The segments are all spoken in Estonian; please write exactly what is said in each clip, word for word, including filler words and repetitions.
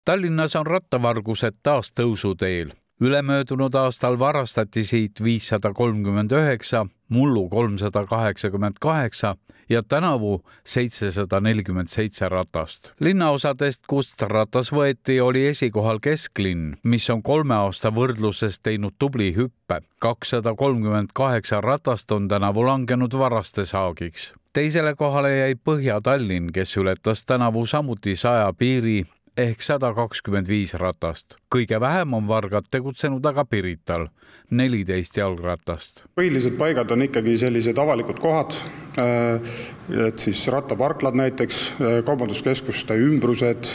Tallinnas on rattavargused taas tõusuteel. Ülemöödunud aastal varastati siit viissada kolmkümmend üheksa, mullu kolmsada kaheksakümmend kaheksa ja tänavu seitsesada nelikümmend seitse ratast. Linnaosadest, kust ratas võeti, oli esikohal Kesklinn, mis on kolme aasta võrdluses teinud tubli hüppe. kakssada kolmkümmend kaheksa ratast on tänavu langenud varaste saagiks. Teisele kohale jäi Põhja-Tallinn, kes ületas tänavu samuti saja piiri ehk sada kakskümmend viis ratast. Kõige vähem on vargad tegutsenud aga Pirital, neliteist jalgratast. Põhilised paigad on ikkagi sellised avalikud kohad, et siis rattaparklad näiteks, kaubanduskeskuste ümbrused,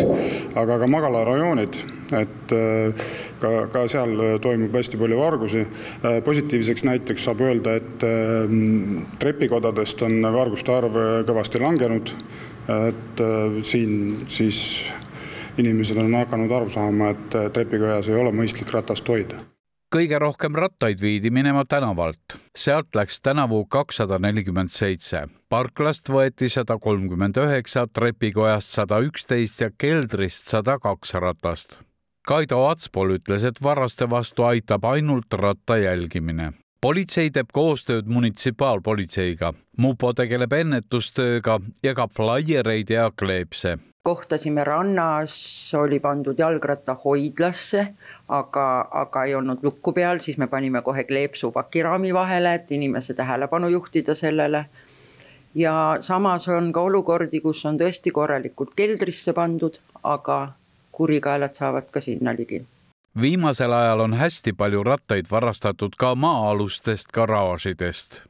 aga ka magalarajoonid, et ka, ka seal toimub hästi palju vargusi. Positiivseks näiteks saab öelda, et trepikodadest on varguste arv kõvasti langenud, et siin siis inimesed on hakanud aru saama, et trepikojas ei ole mõistlik ratast hoida. Kõige rohkem rattaid viidi minema tänavalt. Sealt läks tänavu kakssada nelikümmend seitse. Parklast võeti sada kolmkümmend üheksa, trepikojast sada üksteist ja keldrist sada kaks ratast. Kaido Atspol ütles, et varaste vastu aitab ainult ratta jälgimine. Politsei teeb koostööd munitsipaalpolitseiga. Mupo tegeleb ennetustööga ja ka flaiereid ja kleepse. Kohtasime rannas, oli pandud jalgratta hoidlasse, aga, aga ei olnud lukku peal, siis me panime kohe kleepsu pakiraami vahele, et inimese tähelepanu juhtida sellele. Ja samas on ka olukordi, kus on tõesti korralikult keldrisse pandud, aga kurikaelad saavad ka sinna ligi. Viimasel ajal on hästi palju rattaid varastatud ka maa-alustest garaažidest.